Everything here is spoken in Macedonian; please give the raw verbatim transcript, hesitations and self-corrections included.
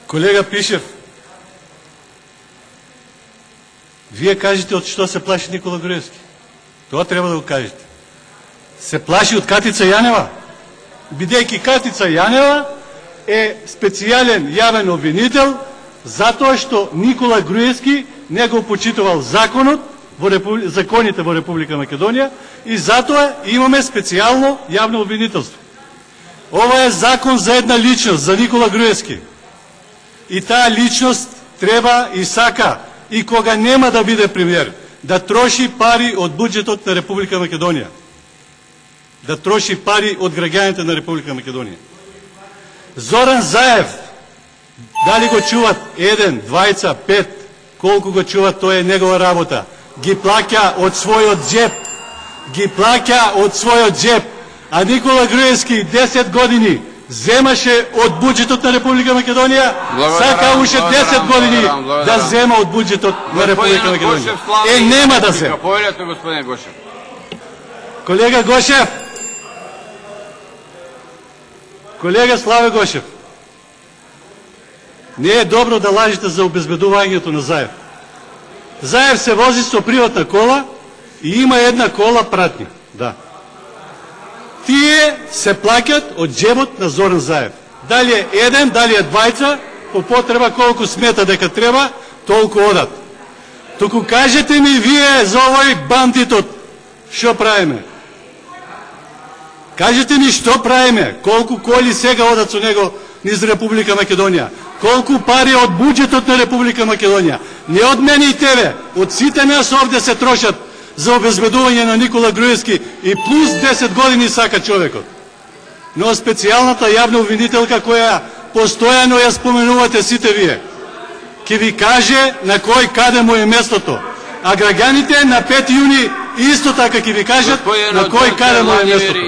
Колега Пишев, вие кажете од што се плаши Никола Груевски. Тоа треба да го кажете. Се плаши од Катица Јанева, бидејќи Катица Јанева е специјален јавен обвинител затоа што Никола Груевски не го почитувал законот во Републи... законите во Република Македонија и затоа имаме специјално јавно обвинителство. Ова е закон за една личност, за Никола Груевски. И таа личност треба и сака, и кога нема да биде премиер, да троши пари од буџетот на Република Македонија. Да троши пари од граѓаните на Република Македонија. Зоран Заев, дали го чуват еден, двајца, пет, колку го чуват, тоа е негова работа. Ги плаќа од својот джеб. Ги плаќа од својот джеб. А Никола Груевски десет години земаше од буџетот на Република Македонија, сака уште десет години да зема од буџетот на Република Македонија. Е, нема да се. Колега Гошев, колега Славе Гошев, не е добро да лажите за обезбедувањето на Заев. Заев се вози со приватна кола и има една кола пратник. Да. Тие се плаќат од джебот на Зоран Заев. Дали е еден, дали е двајца, по потреба колку смета дека треба, толку одат. Туку кажете ми вие за овој бандитот, што правиме? Кажете ми што правиме? Колку коли сега одат со него низ Република Македонија? Колку пари од буџетот на Република Македонија? Не од мене и тебе, од сите нас овде се трошат за обезбедување на Никола Груевски и плюс десет години сака човекот. Но специјалната јавна обвинителка која постојано ја споменувате сите вие, ќе ви каже на кој каде му е местото. А граѓаните на пети јуни исто така ќе ви кажат на кој каде му е местото.